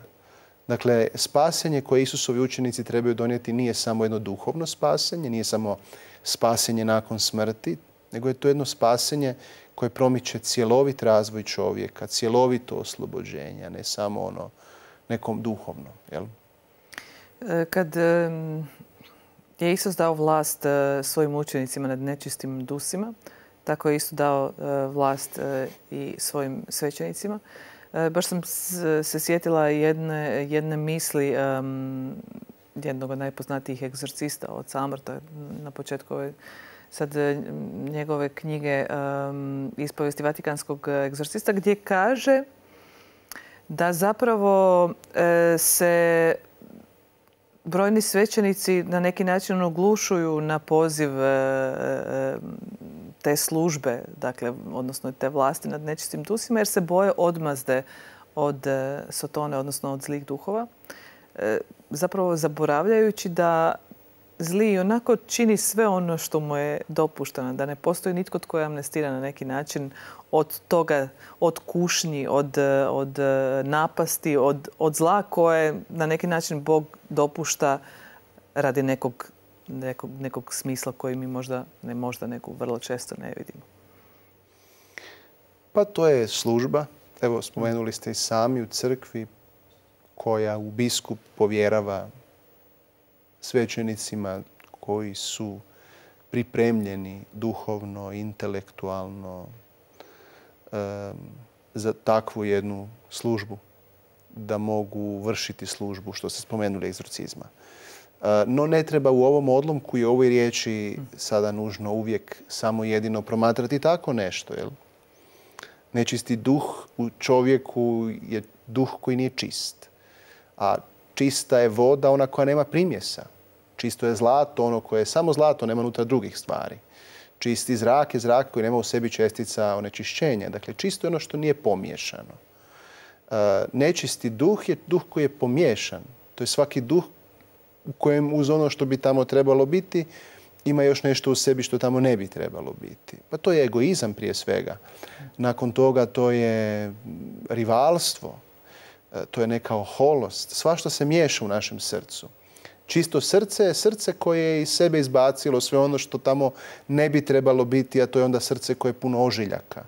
B: Dakle, spasenje koje Isusovi učenici trebaju donijeti nije samo jedno duhovno spasenje, nije samo spasenje nakon smrti, nego je to jedno spasenje koje promiče cjelovit razvoj čovjeka, cjelovito oslobođenje, a ne samo ono nekom duhovno. Jel?
A: Kad je Isus dao vlast svojim učenicima nad nečistim dusima, tako je isto dao vlast i svojim svećenicima. Baš sam se sjetila jedne, jedne misli um, jednog od najpoznatijih egzorcista od Samrta na početku ove sad njegove knjige um, Ispovijesti Vatikanskog egzorcista, gdje kaže da zapravo e, se brojni svećenici na neki način oglušuju na poziv e, te službe, dakle, odnosno te vlasti nad nečistim dusima, jer se boje odmazde od sotone, odnosno od zlih duhova. E, zapravo zaboravljajući da zli onako čini sve ono što mu je dopušteno, da ne postoji nitko tko je amnestiran na neki način od toga, od kušnji, od, od napasti, od, od zla koje na neki način Bog dopušta radi nekog, nekog, nekog smisla koji mi možda, ne možda, nego vrlo često ne vidimo.
B: Pa to je služba. Evo, spomenuli ste i sami u crkvi koja u biskup povjerava svećenicima koji su pripremljeni duhovno, intelektualno um, za takvu jednu službu, da mogu vršiti službu, što ste spomenuli, egzorcizma. Uh, no ne treba u ovom odlomku i ovoj riječi sada nužno uvijek samo jedino promatrati tako nešto. Jel? Nečisti duh u čovjeku je duh koji nije čist. A čista je voda, ona koja nema primjesa. Čisto je zlato, ono koje je samo zlato, nema unutra drugih stvari. Čisti zrak je zrak koji nema u sebi čestica onečišćenja. Dakle, čisto je ono što nije pomiješano. Nečisti duh je duh koji je pomiješan. To je svaki duh u kojem uz ono što bi tamo trebalo biti ima još nešto u sebi što tamo ne bi trebalo biti. Pa to je egoizam prije svega. Nakon toga to je rivalstvo. To je neka oholost. Svašta se miješa u našem srcu. Čisto srce je srce koje je iz sebe izbacilo sve ono što tamo ne bi trebalo biti, a to je onda srce koje je puno ožiljaka.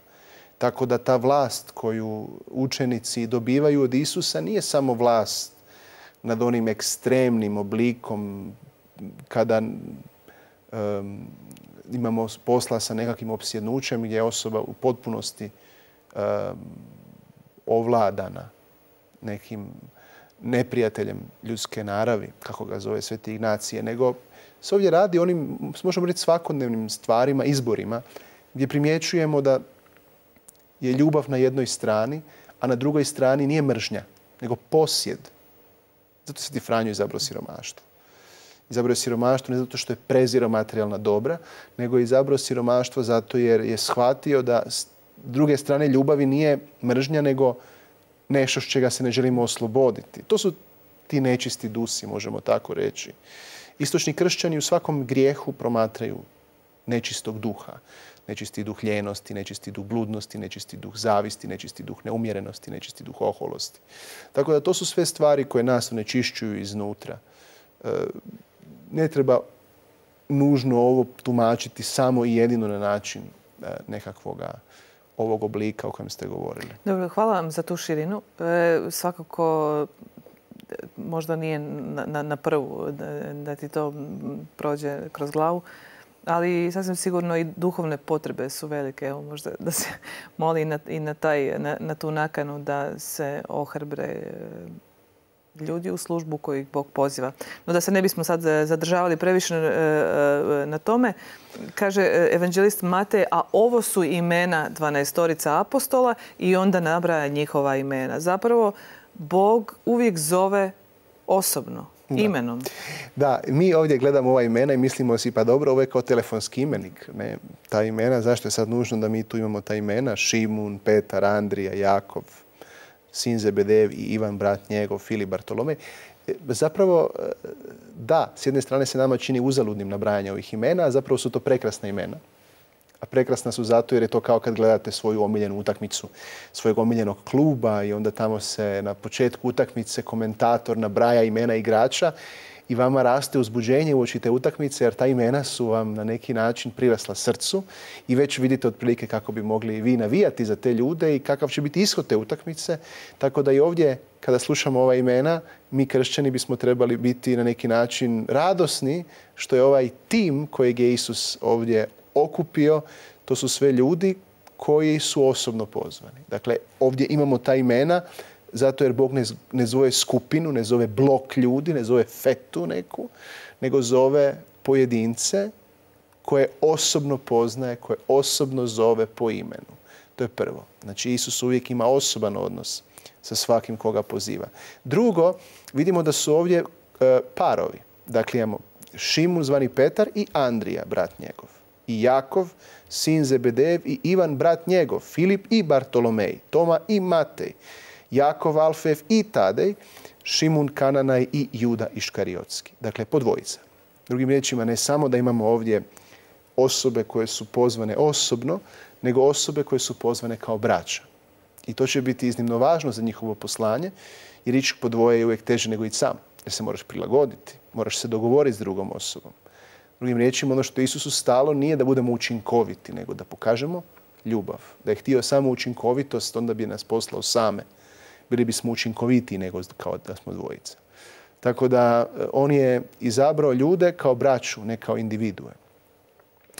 B: Tako da ta vlast koju učenici dobivaju od Isusa nije samo vlast nad onim ekstremnim oblikom kada um, imamo posla sa nekakvim opsjednućem gdje je osoba u potpunosti um, ovladana nekim neprijateljem ljudske naravi, kako ga zove Sveti Ignacije, nego se ovdje radi o onim, možemo reći, svakodnevnim stvarima, izborima, gdje primjećujemo da je ljubav na jednoj strani, a na drugoj strani nije mržnja, nego posjed. Zato Sveti Franjo izabrao siromaštvo. Izabrao je siromaštvo ne zato što je prezirao materijalna dobra, nego je izabrao siromaštvo zato jer je shvatio da s druge strane ljubavi nije mržnja, nego nešto s čega se ne želimo osloboditi. To su ti nečisti dusi, možemo tako reći. Istočni kršćani u svakom grijehu promatraju nečistog duha. Nečisti duh ljenosti, nečisti duh bludnosti, nečisti duh zavisti, nečisti duh neumjerenosti, nečisti duh oholosti. Tako da to su sve stvari koje nas onečišćuju iznutra. Ne treba nužno ovo tumačiti samo i jedino na način nekakvoga ovog oblika o kojem ste govorili.
A: Dobro, hvala vam za tu širinu. E, svakako možda nije na, na, na prvu da, da ti to prođe kroz glavu, ali sasvim sigurno i duhovne potrebe su velike. Evo, možda da se moli i na, i na, taj, na, na tu nakanu da se ohrabre ljudi u službu koju Bog poziva. No da se ne bismo sad zadržavali previše na tome, kaže evanđelist Matej, a ovo su imena dvanaestorica apostola i onda nabraja njihova imena. Zapravo, Bog uvijek zove osobno. imenom.
B: Da, mi ovdje gledamo ova imena i mislimo si pa dobro, ovo je kao telefonski imenik. Ne? Ta imena, zašto je sad nužno da mi tu imamo ta imena? Šimun, Petar, Andrija, Jakov, sin Zebedev i Ivan, brat njegov, Filip, Bartolomej. Zapravo, da, s jedne strane se nama čini uzaludnim nabrajanje ovih imena, a zapravo su to prekrasna imena. A prekrasna su zato jer je to kao kad gledate svoju omiljenu utakmicu svojeg omiljenog kluba i onda tamo se na početku utakmice komentator nabraja imena igrača i vama raste uzbuđenje uoči te utakmice jer ta imena su vam na neki način prirasla srcu i već vidite otprilike kako bi mogli vi navijati za te ljude i kakav će biti ishod te utakmice. Tako da i ovdje kada slušamo ova imena, mi kršćani bismo trebali biti na neki način radosni što je ovaj tim kojeg je Isus ovdje okupio, to su sve ljudi koji su osobno pozvani. Dakle, ovdje imamo ta imena zato jer Bog ne, ne zove skupinu, ne zove blok ljudi, ne zove fetu neku, nego zove pojedince koje osobno poznaje, koje osobno zove po imenu. To je prvo. Znači, Isus uvijek ima osoban odnos sa svakim koga poziva. Drugo, vidimo da su ovdje e, parovi. Dakle, imamo Šimun zvani Petar i Andrija, brat njegov. I Jakov, sin Zebedev i Ivan, brat njegov, Filip i Bartolomej, Toma i Matej, Jakov, Alfev i Tadej, Šimun, Kananaj i Juda Iškariotski. Dakle, po dvojica. Drugim riječima, ne samo da imamo ovdje osobe koje su pozvane osobno, nego osobe koje su pozvane kao braća. I to će biti iznimno važno za njihovo poslanje, jer ići po dvoje je uvijek teže nego ići sam. Jer se moraš prilagoditi, moraš se dogovoriti s drugom osobom. Drugim riječima, ono što Isusu stalo nije da budemo učinkoviti, nego da pokažemo ljubav. Da je htio samo učinkovitost, onda bi nas poslao same. Bili bismo učinkovitiji nego kao da smo dvojica. Tako da on je izabrao ljude kao braću, ne kao individue.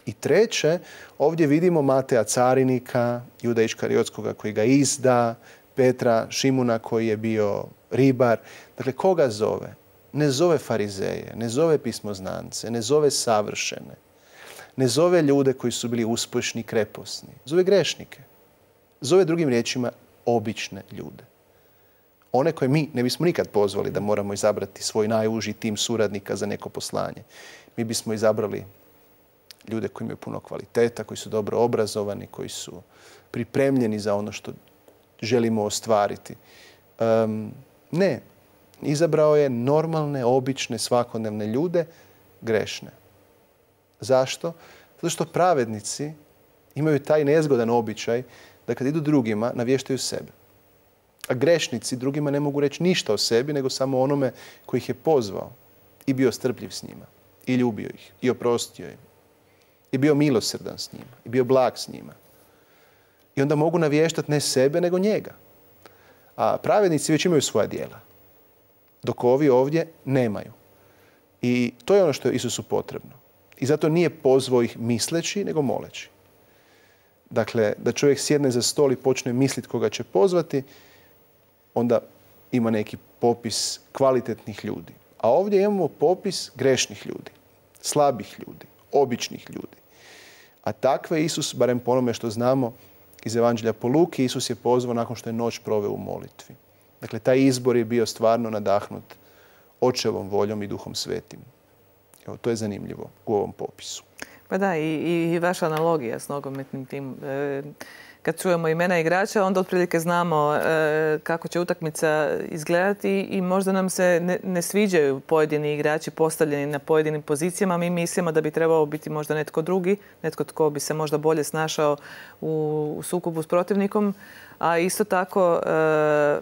B: I treće, ovdje vidimo Mateja carinika, Juda Iškariotskoga koji ga izda, Petra, Šimuna koji je bio ribar. Dakle, koga zove? Ne zove farizeje, ne zove pismoznance, ne zove savršene. Ne zove ljude koji su bili uspješni, kreposni. Zove grešnike. Zove drugim riječima obične ljude. One koje mi ne bismo nikad pozvali da moramo izabrati svoj najuži tim suradnika za neko poslanje. Mi bismo izabrali ljude koji imaju puno kvaliteta, koji su dobro obrazovani, koji su pripremljeni za ono što želimo ostvariti. Um, ne. Izabrao je normalne, obične, svakodnevne ljude, grešne. Zašto? Zato što pravednici imaju taj nezgodan običaj da kad idu drugima, navještaju sebe. A grešnici drugima ne mogu reći ništa o sebi, nego samo onome koji ih je pozvao i bio strpljiv s njima. I ljubio ih. I oprostio im. I bio milosrdan s njima. I bio blag s njima. I onda mogu navještati ne sebe, nego njega. A pravednici već imaju svoja djela. Dok ovi ovdje nemaju. I to je ono što je Isusu potrebno. I zato nije pozvao ih misleći, nego moleći. Dakle, da čovjek sjedne za stol i počne misliti koga će pozvati, onda ima neki popis kvalitetnih ljudi. A ovdje imamo popis grešnih ljudi, slabih ljudi, običnih ljudi. A takve Isus, barem po onome što znamo iz Evanđelja po Luki, Isus je pozvao nakon što je noć proveo u molitvi. Dakle, taj izbor je bio stvarno nadahnut Očevom voljom i Duhom Svetim. Evo, to je zanimljivo u ovom popisu.
A: Pa da, i, i vaša analogija s nogometnim tim. E, kad čujemo imena igrača, onda otprilike znamo e, kako će utakmica izgledati i možda nam se ne, ne sviđaju pojedini igrači postavljeni na pojedinim pozicijama. Mi mislimo da bi trebao biti možda netko drugi, netko tko bi se možda bolje snašao u, u sukobu s protivnikom. A isto tako e,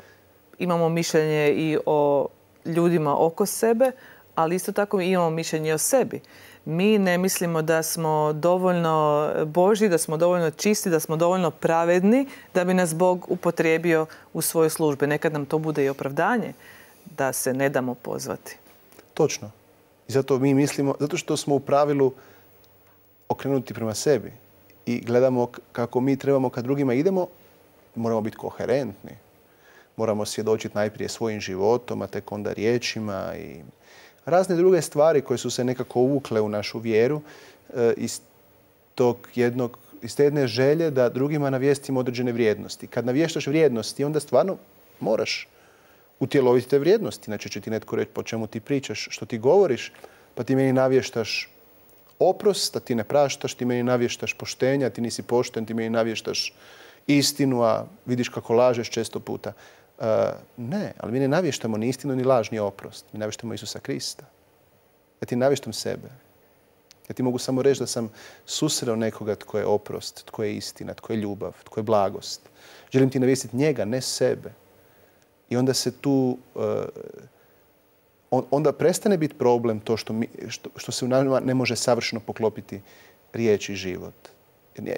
A: imamo mišljenje i o ljudima oko sebe, ali isto tako imamo mišljenje o sebi. Mi ne mislimo da smo dovoljno Božji, da smo dovoljno čisti, da smo dovoljno pravedni da bi nas Bog upotrijebio u svoje službe. Nekad nam to bude i opravdanje da se ne damo pozvati.
B: Točno. I zato mi mislimo, zato što smo u pravilu okrenuti prema sebi i gledamo kako mi trebamo kad drugima idemo, moramo biti koherentni. Moramo svjedočiti najprije svojim životom, a tek onda riječima i razne druge stvari koje su se nekako uvukle u našu vjeru iz tog jednog, iz te jedne želje da drugima navijestimo određene vrijednosti. Kad navještaš vrijednosti, onda stvarno moraš utjeloviti te vrijednosti. Inače će ti netko reći po čemu ti pričaš, što ti govoriš, pa ti meni navještaš oprost, a ti ne praštaš, ti meni navještaš poštenja, ti nisi pošten, ti meni navještaš istinu, a vidiš kako lažeš često puta. Uh, ne, ali mi ne navještamo ni istinu, ni laž, ni oprost. Mi navještamo Isusa Krista. Ja ti navještam sebe. Ja ti mogu samo reći da sam susreo nekoga tko je oprost, tko je istina, tko je ljubav, tko je blagost. Želim ti navijestiti njega, ne sebe. I onda se tu, uh, onda prestane biti problem to što, mi, što, što se u nama ne može savršeno poklopiti riječ i život.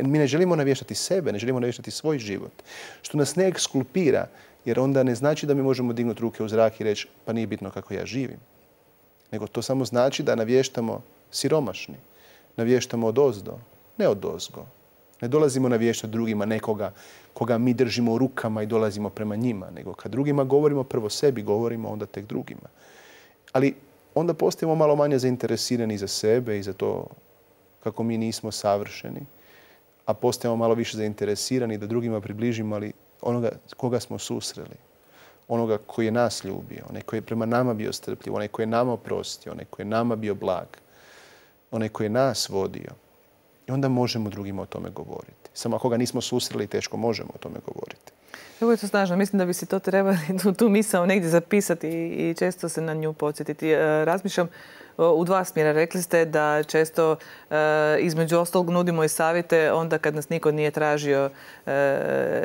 B: Mi ne želimo navještati sebe, ne želimo navještati svoj život. Što nas ne ekskulpira, jer onda ne znači da mi možemo dignuti ruke u zrak i reći pa nije bitno kako ja živim. Nego to samo znači da navještamo siromašni. Navještamo odozdo, ne odozgo. Ne dolazimo navještati drugima nekoga koga mi držimo u rukama i dolazimo prema njima. Nego kad drugima govorimo, prvo sebi govorimo, onda tek drugima. Ali onda postajemo malo manje zainteresirani za sebe i za to kako mi nismo savršeni. A postajemo malo više zainteresirani da drugima približimo, ali onoga koga smo susreli. Onoga koji je nas ljubio, onaj koji je prema nama bio strpljiv, onaj koji je nama oprostio, onaj koji je nama bio blag, onaj koji je nas vodio. I onda možemo drugima o tome govoriti. Samo ako ga nismo susreli, teško možemo o tome govoriti.
A: Ovo je to snažno. Mislim da bi si to trebali tu, tu misao negdje zapisati i često se na nju podsjetiti. Razmišljam u dva smjera. Rekli ste da često između ostalog nudimo i savjete onda kad nas niko nije tražio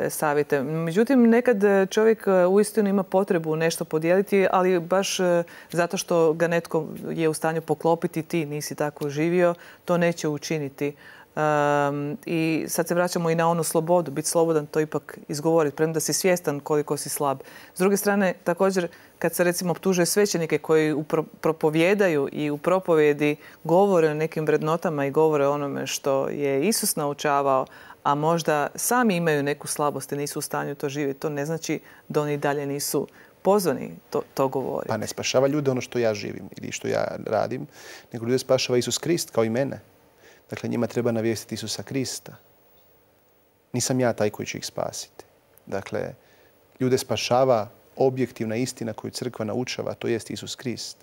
A: savjete. Međutim, nekad čovjek uistinu ima potrebu nešto podijeliti, ali baš zato što ga netko je u stanju poklopiti, ti nisi tako živio, to neće učiniti. Um, I sad se vraćamo i na onu slobodu, biti slobodan, to ipak izgovoriti, premda si svjestan koliko si slab. S druge strane, također, kad se recimo optužuje svećenike koji upro, propovijedaju i u propovjedi govore o nekim vrednotama i govore o onome što je Isus naučavao, a možda sami imaju neku slabost i nisu u stanju to živjeti, to ne znači da oni dalje nisu pozvani to, to govoriti.
B: Pa ne spašava ljude ono što ja živim ili što ja radim, nego ljude spašava Isus Krist kao i mene. Dakle, njima treba navijestiti Isusa Krista. Nisam ja taj koji će ih spasiti. Dakle, ljude spašava objektivna istina koju crkva naučava, to jest Isus Krist.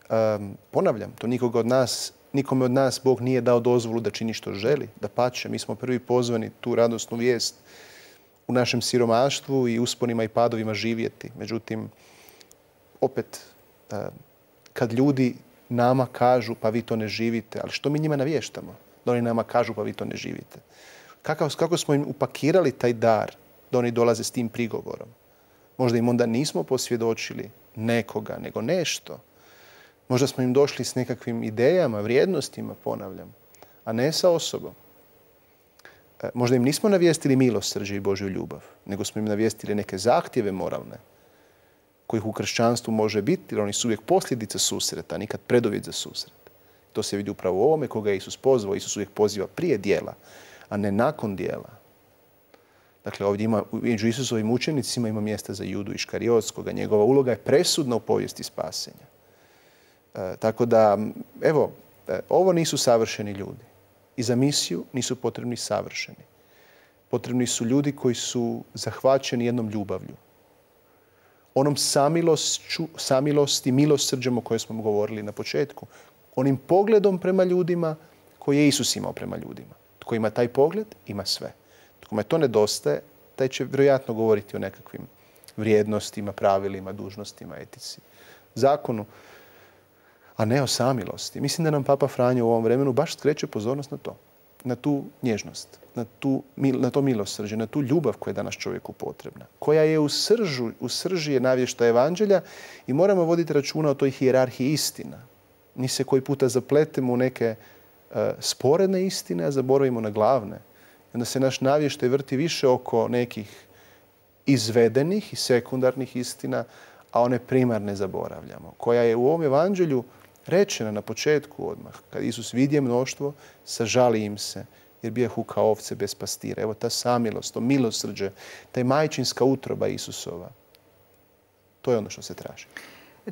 B: Um, ponavljam, to nikoga od nas, nikome od nas Bog nije dao dozvolu da čini što želi, da pače. Mi smo prvi pozvani tu radosnu vijest u našem siromaštvu i usponima i padovima živjeti. Međutim, opet, um, kad ljudi nama kažu pa vi to ne živite, ali što mi njima navještamo? Da oni nama kažu pa vi to ne živite. Kako, kako smo im upakirali taj dar da oni dolaze s tim prigovorom? Možda im onda nismo posvjedočili nekoga, nego nešto. Možda smo im došli s nekakvim idejama, vrijednostima, ponavljam, a ne sa osobom. Možda im nismo navijestili milosrđe i Božju ljubav, nego smo im navijestili neke zahtjeve moralne, kojih u kršćanstvu može biti, jer oni su uvijek posljedica susreta, nikad preduvjet za susret. To se vidi upravo u ovome koga je Isus pozvao. Isus uvijek poziva prije dijela, a ne nakon dijela. Dakle, ovdje ima, među Isusovim učenicima ima mjesta za Judu Iškariotskoga. Njegova uloga je presudna u povijesti spasenja. E, tako da, evo, e, ovo nisu savršeni ljudi. I za misiju nisu potrebni savršeni. Potrebni su ljudi koji su zahvaćeni jednom ljubavlju. Onom samilošću, samilosti, milosrđem o kojoj smo govorili na početku. Onim pogledom prema ljudima koji je Isus imao prema ljudima. Tko ima taj pogled, ima sve. Kome to nedostaje, taj će vjerojatno govoriti o nekakvim vrijednostima, pravilima, dužnostima, etici, zakonu, a ne o samilosti. Mislim da nam Papa Franjo u ovom vremenu baš skreće pozornost na to. Na tu nježnost, na, tu, na to milosrđe, na tu ljubav koja je danas čovjeku potrebna. Koja je u, sržu, u srži je navješta evanđelja i moramo voditi računa o toj hijerarhiji istina. Mi se koji puta zapletemo u neke uh, sporedne istine, a zaboravimo na glavne. I onda se naš navještaj vrti više oko nekih izvedenih i sekundarnih istina, a one primarne zaboravljamo. Koja je u ovom evanđelju rečena na početku odmah. Kad Isus vidje mnoštvo, sažali im se, jer bijahu kao ovce bez pastira. Evo ta samilost, to milosrđe, taj majčinska utroba Isusova. To je ono što se traži.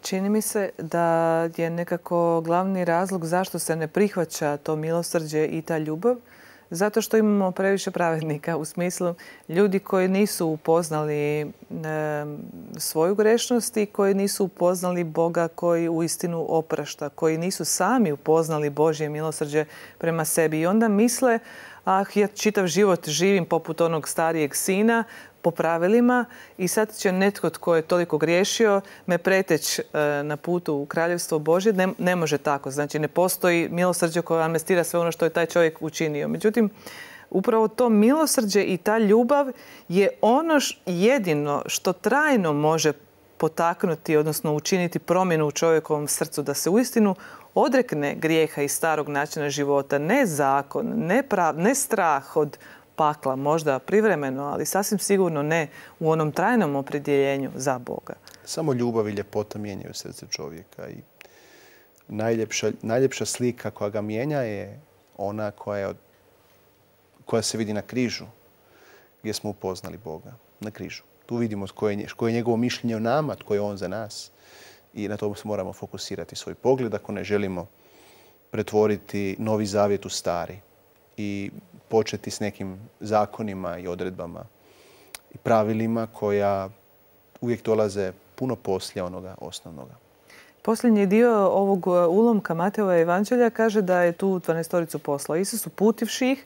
A: Čini mi se da je nekako glavni razlog zašto se ne prihvaća to milosrđe i ta ljubav, Zato što imamo previše pravednika, u smislu ljudi koji nisu upoznali e, svoju grešnost i koji nisu upoznali Boga koji uistinu oprašta, koji nisu sami upoznali Božje milosrđe prema sebi. I onda misle, ah, ja čitav život živim poput onog starijeg sina, po pravilima i sad će netko tko je toliko griješio me preteći na putu u Kraljevstvo Božje. Ne, ne može tako. Znači, ne postoji milosrđe koje amnestira sve ono što je taj čovjek učinio. Međutim, upravo to milosrđe i ta ljubav je ono jedino što trajno može potaknuti, odnosno učiniti promjenu u čovjekovom srcu, da se uistinu odrekne grijeha i starog načina života. Ne zakon, ne, prav, ne strah od pakla, možda privremeno, ali sasvim sigurno ne u onom trajnom opredjeljenju za Boga.
B: Samo ljubav i ljepota mijenjaju srce čovjeka i najljepša, najljepša slika koja ga mijenja je ona koja, je, koja se vidi na križu, gdje smo upoznali Boga. Na križu. Tu vidimo koje je, koje je njegovo mišljenje o nama, tko je on za nas. I na to se moramo fokusirati svoj pogled ako ne želimo pretvoriti Novi Zavjet u stari i početi s nekim zakonima i odredbama i pravilima koja uvijek dolaze puno poslije onoga osnovnoga.
A: Posljednji dio ovog ulomka Matejeva evanđelja kaže da je tu dvanaestoricu poslao. Isus uputivši ih,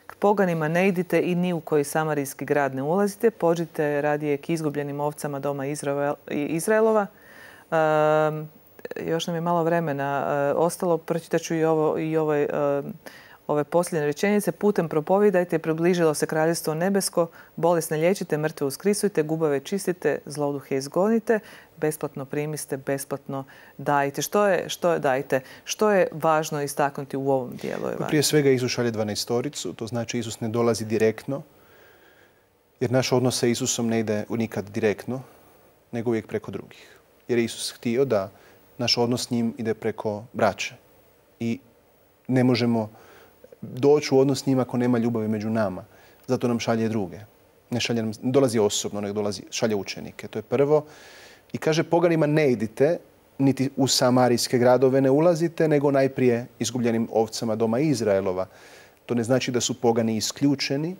A: k poganima ne idite i ni u koji samarijski grad ne ulazite, pođite radije k izgubljenim ovcama doma Izraelova. E, još nam je malo vremena e, ostalo, pročitat ću i ovo i ovaj e, ove posljednje rečenice. Putem propovijedajte, približilo se kraljevstvo nebesko, bolesne liječite, mrtve uskrisujte, gubave čistite, zloduhe izgonite, besplatno primiste, besplatno dajte. Što je, što je dajte? Što je važno istaknuti u ovom dijelu?
B: Prije svega Isus šalje dvanaestoricu, to znači Isus ne dolazi direktno, jer naš odnos sa Isusom ne ide nikad direktno, nego uvijek preko drugih. Jer je Isus htio da naš odnos s njim ide preko braće. I ne možemo doći u odnos s njim ako nema ljubavi među nama. Zato nam šalje druge. Ne šalje nam, dolazi osobno, nego dolazi, šalje učenike. To je prvo. I kaže, poganima ne idite, niti u samarijske gradove ne ulazite, nego najprije izgubljenim ovcama doma Izraelova. To ne znači da su pogani isključeni,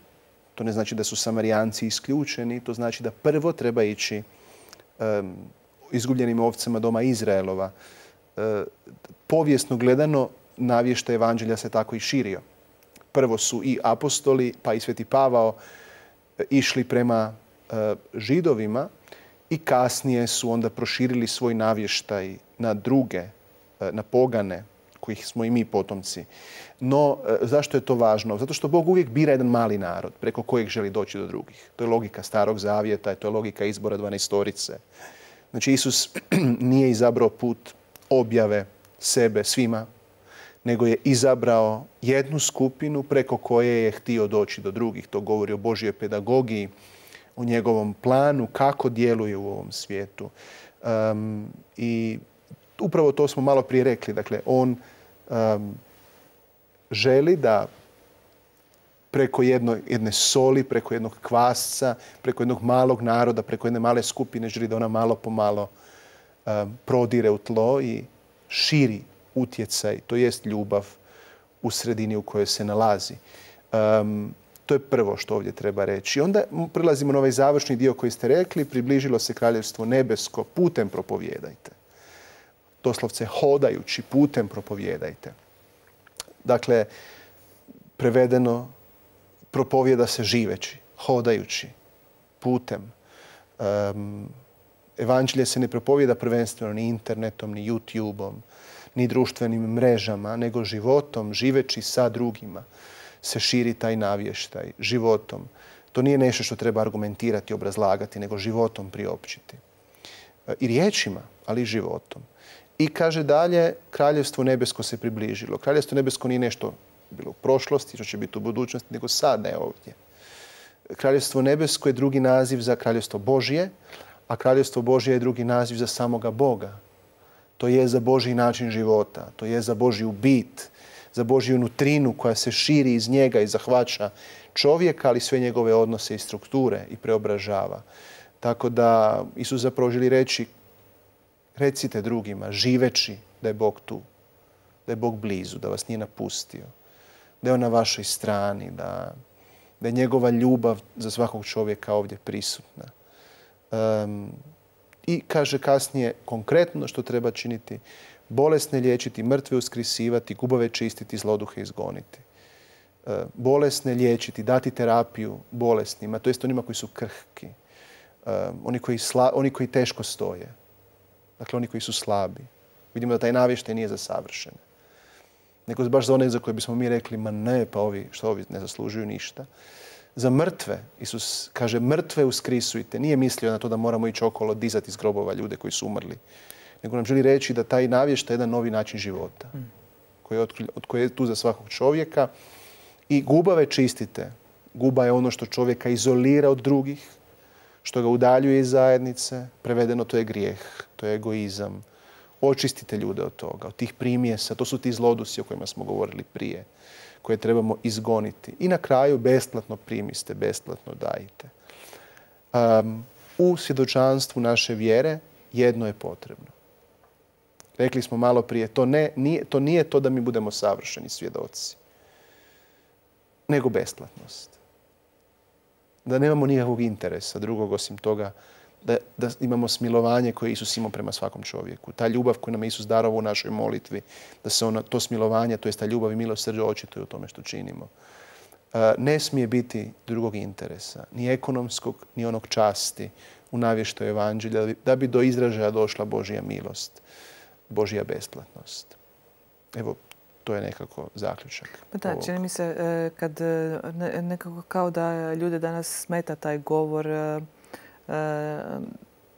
B: to ne znači da su samarijanci isključeni, to znači da prvo treba ići um, izgubljenim ovcama doma Izraelova. Uh, povijesno gledano, navještaj evanđelja se tako i širio. Prvo su i apostoli, pa i Sveti Pavao išli prema uh, židovima i kasnije su onda proširili svoj navještaj na druge, uh, na pogane, kojih smo i mi potomci. No, uh, zašto je to važno? Zato što Bog uvijek bira jedan mali narod preko kojeg želi doći do drugih. To je logika Starog Zavjeta, to je logika izbora dvanaestorice. Znači, Isus nije izabrao put objave sebe svima, nego je izabrao jednu skupinu preko koje je htio doći do drugih. To govori o Božjoj pedagogiji, o njegovom planu, kako djeluje u ovom svijetu. Um, I upravo to smo malo prije rekli. Dakle, on um, želi da preko jedno, jedne soli, preko jednog kvasca, preko jednog malog naroda, preko jedne male skupine, želi da ona malo po malo um, prodire u tlo i širi utjecaj, to jest ljubav u sredini u kojoj se nalazi. Um, to je prvo što ovdje treba reći. Onda prilazimo na ovaj završni dio koji ste rekli, približilo se kraljevstvo nebesko, putem propovijedajte. Doslovce hodajući, putem propovijedajte. Dakle, prevedeno, propovijeda se živeći, hodajući, putem. Um, evanđelje se ne propovijeda prvenstveno ni internetom, ni YouTubeom, ni društvenim mrežama, nego životom, živeći sa drugima, se širi taj navještaj, životom. To nije nešto što treba argumentirati, obrazlagati, nego životom priopćiti. I riječima, ali i životom. I kaže dalje, kraljevstvo nebesko se približilo. Kraljevstvo nebesko nije nešto bilo u prošlosti, što će biti u budućnosti, nego sad, ne ovdje. Kraljevstvo nebesko je drugi naziv za kraljevstvo Božje, a kraljevstvo Božje je drugi naziv za samoga Boga. To je za Božji način života, to je za Božju bit, za Božju nutrinu koja se širi iz njega i zahvaća čovjeka, ali sve njegove odnose i strukture i preobražava. Tako da Isus zapravo želi reći, recite drugima, živeći da je Bog tu, da je Bog blizu, da vas nije napustio, da je on na vašoj strani, da, da je njegova ljubav za svakog čovjeka ovdje prisutna. Um, I kaže kasnije konkretno što treba činiti: bolesne liječiti, mrtve uskrisivati, gubave čistiti, zloduhe izgoniti. Uh, bolesne liječiti, dati terapiju bolesnima, to jest onima koji su krhki, um, oni, koji sla, oni koji teško stoje, dakle oni koji su slabi. Vidimo da taj navještaj nije za savršene, nego baš za one za koje bismo mi rekli: ma ne, pa ovi, što ovi ne zaslužuju ništa. Za mrtve, Isus kaže: mrtve uskrisujte. Nije mislio na to da moramo ići okolo dizati iz grobova ljude koji su umrli, nego nam želi reći da taj navještaj je jedan novi način života, koji je, od koji je tu za svakog čovjeka. I gubave čistite. Guba je ono što čovjeka izolira od drugih, što ga udaljuje iz zajednice. Prevedeno, to je grijeh, to je egoizam. Očistite ljude od toga, od tih primjesa. To su ti zlodusi o kojima smo govorili prije, koje trebamo izgoniti. I na kraju besplatno primiste, besplatno dajte. Um, u svjedočanstvu naše vjere jedno je potrebno. Rekli smo malo prije, to, ne, nije, to nije to da mi budemo savršeni svjedoci, nego besplatnost. Da nemamo nikakvog interesa drugog osim toga da, da imamo smilovanje koje Isus ima prema svakom čovjeku. Ta ljubav koju nam je Isus darovao u našoj molitvi, da se ona, to smilovanje, to je ta ljubav i milosrđe očituje u tome što činimo. Ne smije biti drugog interesa, ni ekonomskog, ni onog časti u navještaju evanđelja, da bi do izražaja došla Božja milost, Božja besplatnost. Evo, to je nekako zaključak.
A: Pa da, čini mi se kad nekako kao da ljude danas smeta taj govor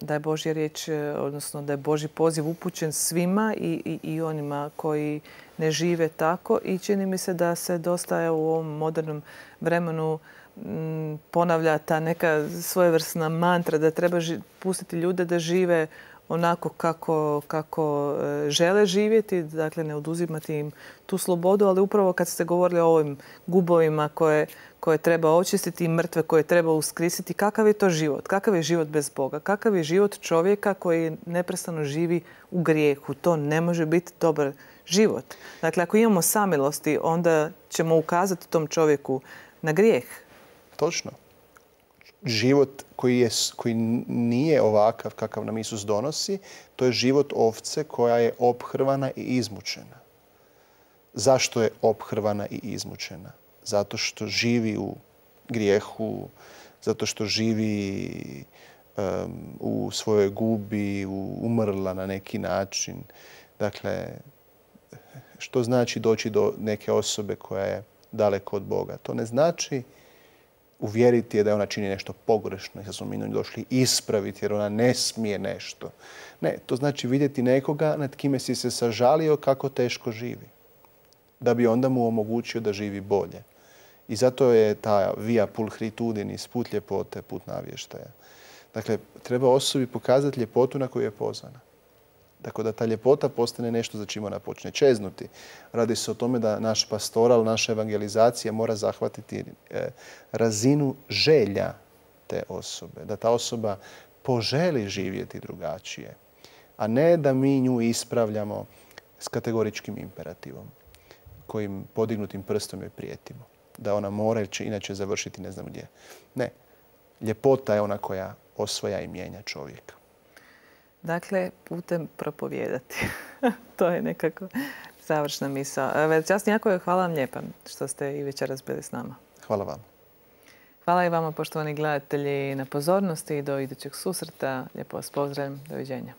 A: da je Božja riječ, odnosno da je Božji poziv upućen svima i, i, i onima koji ne žive tako. I čini mi se da se dosta u ovom modernom vremenu m, ponavlja ta neka svojevrsna mantra da treba ži, pustiti ljude da žive onako kako, kako žele živjeti, dakle ne oduzimati im tu slobodu, ali upravo kad ste govorili o ovim gubovima koje, koje treba očistiti i mrtve koje treba uskrisiti, kakav je to život? Kakav je život bez Boga? Kakav je život čovjeka koji neprestano živi u grijehu? To ne može biti dobar život. Dakle, ako imamo samilosti, onda ćemo ukazati tom čovjeku na grijeh.
B: Točno. Život koji, je, koji nije ovakav kakav nam Isus donosi, to je život ovce koja je ophrvana i izmučena. Zašto je ophrvana i izmučena? Zato što živi u grijehu, zato što živi um, u svojoj gubi, u, umrla na neki način. Dakle, što znači doći do neke osobe koja je daleko od Boga? To ne znači uvjeriti je da ona čini nešto pogrešno i da smo mi njoj došli ispraviti jer ona ne smije nešto. Ne, to znači vidjeti nekoga nad kime si se sažalio kako teško živi, da bi onda mu omogućio da živi bolje. I zato je ta via pulchritudinis, put ljepote, put navještaja. Dakle, treba osobi pokazati ljepotu na koju je pozvana. Dakle, da ta ljepota postane nešto za čim ona počne čeznuti. Radi se o tome da naš pastoral, naša evangelizacija mora zahvatiti razinu želja te osobe. Da ta osoba poželi živjeti drugačije, a ne da mi nju ispravljamo s kategoričkim imperativom kojim podignutim prstom joj prijetimo. Da ona mora ili će inače završiti ne znam gdje. Ne. Ljepota je ona koja osvaja i mijenja čovjeka.
A: Dakle, putem propovijedati. To je nekako završna misao. Veličasni Jakove, hvala vam lijepa što ste i večeras bili s nama.
B: Hvala vam.
A: Hvala i vama, poštovani gledatelji, na pozornosti i do idućeg susreta. Lijepo vas pozdravljam. Doviđenja.